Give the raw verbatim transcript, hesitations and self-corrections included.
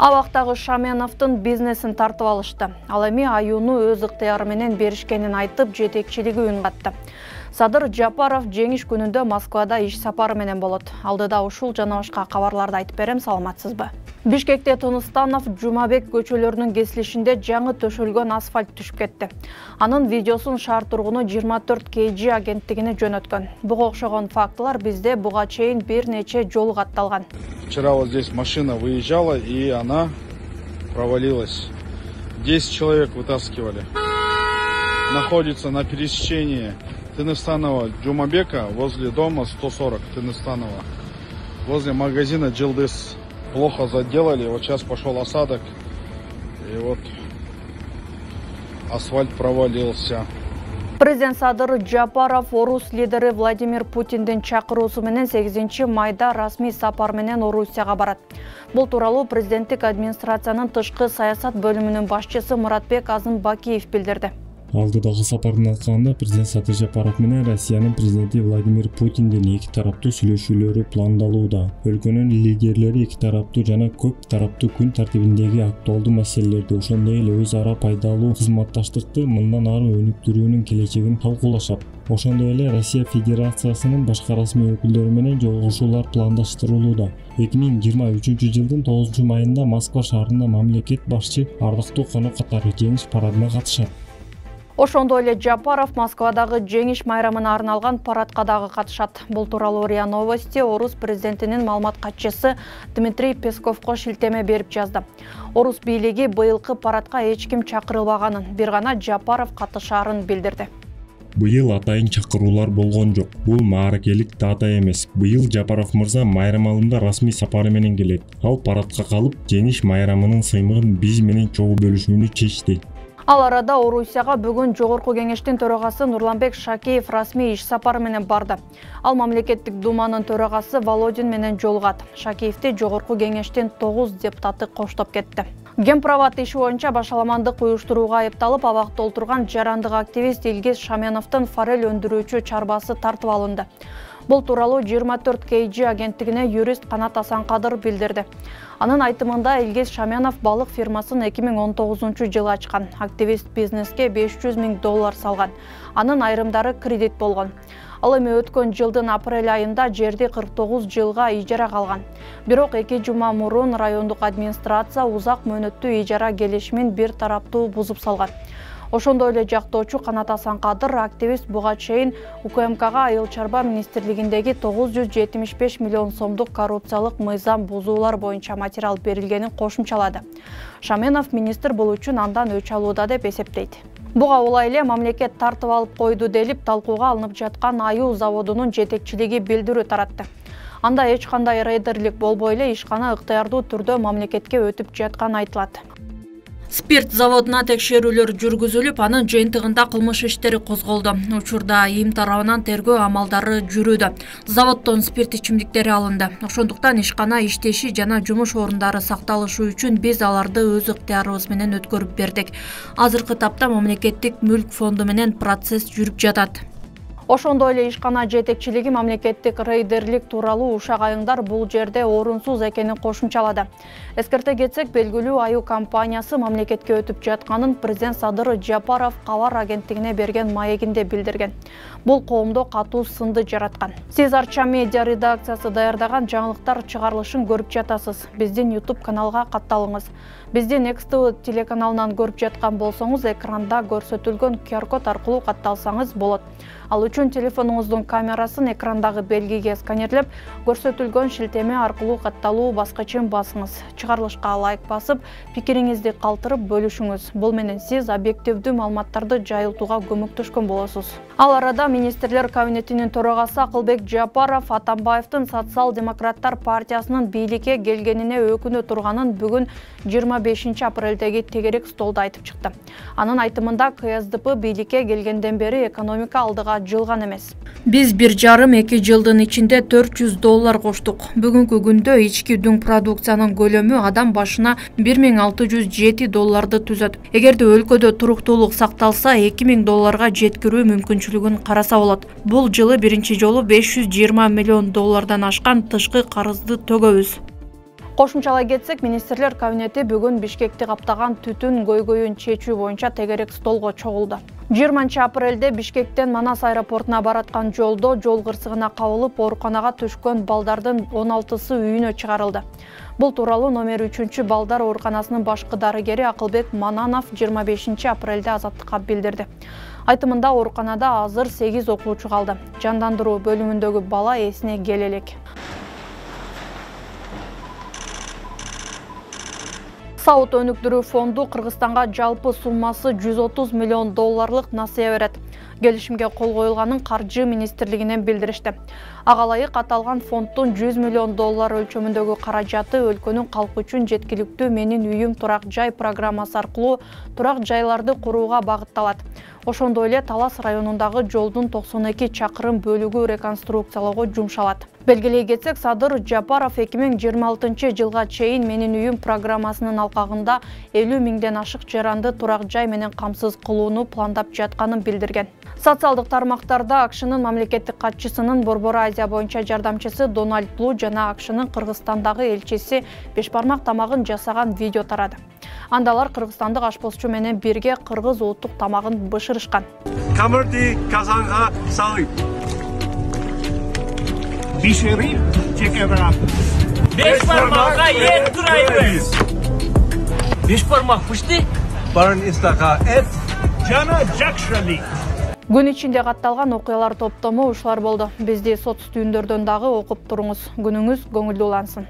Абактагы Шаменовдун бизнесин тартып алышты. Ал эми аюуну өз ыктыяры менен беришкенин айтып, жетекчилиги үн катты. Садыр Жапаров жеңиш күнүндө Москвада иш сапары менен болот. Алдыда ушул жана башка кабарларды айтып берем, саламатсызбы? Бишкекте Тыныстанов Жумабек көчөлөрүнүн кесилишинде жаңы төшөлгөн асфальт түшүп кетти. Анын видеосун шаар тургуну жыйырма төрт кей жи агенттигине жөнөткөн. Буга окшогон фактылар бизде буга чейин бир нече жолу катталган. Вчера вот здесь машина выезжала, и она провалилась. десять человек вытаскивали. Находится на пересечении Тыныстанова Жумабека возле дома сто сорок Тыныстанова. Возле магазина Джилдыс. Плохо заделали, вот сейчас пошел осадок, и вот асфальт провалился. Президент Садыр Жапаров орус лидери Владимир Путиндин чакыруусу менен сегизинчи майда расмий сапар менен Орусияга барат. Бул тууралуу президенттик администрациянын тышкы саясат бөлүмүнүн башчысы Муратбек Азымбакиев билдирди. Алдыдагы сапардын алкагында президент Садыр Жапаров менен Россиянын президенти Владимир Путиндин эки тараптуу сүйлөшүүлөрү пландалууда. Өлкөнүн лидерлери эки тараптуу жана көп тараптуу күн тартибиндеги актуалдуу маселелерди, ошондой эле өз ара пайдалуу кызматташтыкты мындан ары өнүктүрүүнүн келечегин талкуулашат. Ошондой эле Россия Федерациясынын башка расмий өкүлдөрү менен жолугушуулар пландаштырылууда. эки миң жыйырма үчүнчү жылдын тогузунчу майында Москва шаарында мамлекет башчы ардактуу конок катары жеңиш парадына катышат. Ошондой эле Жапаров Москвадагы жеңиш майрамына арналган парадка дагы катышат. Бул тууралуу РИА Новости орус президентинин маалымат катчысы Дмитрий Песковго шилтеме берип жазды. Орус бийлиги быйылкы парадка эч ким чакырылбаганын, бир гана Жапаров катышаарын билдирди. Быйыл атайын чакыруулар болгон жок. Бул мааракелик дата эмес. Быйыл Жапаров мырза майрам алымда расмий сапары менен келет. Ал парадка калып, жеңиш майрамынын сыймыгын биз менен чогуу бөлүшүүнү чечти. Ал арада Орусияга бүгүн Жогорку кеңештин төрагасы Нурланбек Шакеев расмий иш сапары менен барды. Ал мамлекеттик думанын төрагасы Володин менен жолугат. Шакеевди Жогорку кеңештин тогуз депутаты коштоп кетти. Гемправат иши боюнча башаламандык уюштурууга айыпталып абакта олтурган жарандык активист Илгиз Шаменовдун форель өндүрүүчү чарбасы тартып алынды. Бул тууралуу жыйырма төрт кей жи агенттигине юрист Канат Асанкадыр билдирди. Анын айтымында Илгиз Шаменов балык фирмасын эки миң он тогузунчу жылы ачкан. Активист бизнеске беш жүз миң доллар салган. Анын айрымдары кредит болгон. Ал эми өткөн жылдын апрель айында жерди кырк тогуз жылга ижарага алган. Бирок эки жума мурун райондук администрация узак мөөнөттүү ижара келишимин бир тараптуу бузуп салган. Ошондой эле жактоочу Канат Асанкадыр активист буга чейин УКМКга Айыл чарба министрлигиндеги тогуз жүз жетимиш беш миллион сомдук коррупциялык мыйзам бузуулар боюнча материал берилгенин кошумчалады. Шаменов министр бул үчүн андан өч алууда деп эсептейт. Буга улай эле мамлекет тартып алып койду делип талкууга алынып жаткан аюу заводунун жетекчилиги билдирүү таратты. Анда эч кандай рейдерлик болбой эле ишкана ыктыярдуу түрдө мамлекетке өтүп жатканы айтылат. Спирт заводуна текшерүүлөр жүргүзүлүп, анын жыйынтыгында кылмыш иштери козголду. Учурда ИИМ тарабынан тергөө амалдары жүрүүдө. Заводдон спирт ичимдиктери алынды. Ошондуктан ишкана иштеши жана жумуш орундары сакталышы үчүн биз аларды өз ыктыярыбыз менен өткөрүп бердик. Азыркы тапта мамлекеттик мүлк фонду менен процесс жүрүп жатат. Ошондой эле ишкана жетекчилиги мамлекеттик рейдерлик тууралуу ушак айыңдар бул жерде орунсуз экенин кошумчалады. Эскерте кетсек, белгилүү аюу компаниясы мамлекетке өтүп жатканын президент Садыр Жапаров кабар агенттигине берген маегинде билдирген. Бул коомдо катуу сынды жараткан. Сиз Арча медиа редакциясы даярдаган жаңылыктар чыгарылышын көрүп жатасыз. Биздин YouTube каналга катталыңыз. Бизди Next ти ви телеканалынан көрүп жаткан болсоңуз, экранда көрсөтүлгөн ку ар код аркылуу катталсаңыз болот. Ал үчүн телефонуңуздун камерасын экрандагы белгиге сканерлеп, көрсөтүлгөн шилтеме аркылуу катталуу баскычын басыңыз. Чыгарылышка лайк басып, пикириңизди калтырып бөлүшүңүз. Бул менен сиз объективдүү маалыматтарды жайылтууга көмөктөшкөн болосуз. Ал арада министрлер кабинетинин төрагасы Акылбек Жапаров Атамбаевдин Социал-демократтар партиясынын бийликке келгенине өкүнө турганын бүгүн жыйырма бешинчи апрелдеги тегерек столдо айтып чыкты. Анын айтымында ка эс дэ пэ бийликке келгенден бери экономика алдыга жылган эмес. Биз бир жарым эки жылдын ичинде төрт жүз доллар коштук. Бүгүнкү күндө ички дүң продукциянын көлөмү адам башына бир миң алты жүз жети долларды түзөт. Эгерде өлкөдө туруктуулук сакталса, эки миң долларга жеткирүү мүмкүнчүлүгүн караса болот. Бул жылы биринчи жолу беш жүз жыйырма миллион доллардан ашкан тышкы карызды төгөбүз. Кошумчалай кетсек, министрлер кабинети бүгүн Бишкекти каптаган түтүн көйгөйүн чечүү боюнча тегерек столго чогулду. жыйырманчы апрелде Бишкектен Манас аэропортуна бараткан жолдо жол кырсыгына кабылып, ооруканага түшкөн балдардын он алтысы үйүнө чыгарылды. Бул тууралуу номер үчүнчү балдар ооруканасынын башкы дарыгери Акылбек Мананов жыйырма бешинчи апрелде Азаттыкка билдирди. Айтымында ооруканада азыр сегиз окуучу калды. Жандандыруу бөлүмүндөгү бала эсине келе элек. Саут өнүктүрүү фонду Кыргызстанга жалпы суммасы жүз отуз миллион долларлык насыя берет. Келишимге кол коюлганын каржы министрлигинен билдиришти. Ага ылайык аталган фонддун жүз миллион доллар өлчөмүндөгү каражаты өлкөнүн калкы үчүн жеткиликтүү Менин үйүм турак жай программасы аркылуу турак жайларды курууга багытталат. Ошондой эле Талас районундагы жолдун токсон эки чакырым бөлүгү реконструкциялоого жумшалат. Белгилей кетсек, Садыр Жапаров эки миң жыйырма алтынчы жылга чейин Менин үйүм программасынын алкагында элүү миңден ашык жаранды турак жай менен камсыз кылууну пландап жатканын билдирген. Социалдык тармактарда АКШнын мамлекеттик катчысынын Борбор Азия боюнча жардамчысы Дональд Блу жана АКШнын Кыргызстандагы элчиси бешбармак тамагын жасаган видео тарады. Анда алар кыргызстандык ашпозчу менен бирге кыргыз улуттук тамагын бышырышкан. Камырды казанга салып, биширип чеке барабыз. Беш бармакка эт турайбыз. Беш бармак пышты, Барын истака эт, жана жакшылык. Күн ичинде катталган окуялар топтому ушулар болду. Бизди соц түйүндөрдөн дагы окуп туруңуз. Күнүңүз көңүлдүү улансын.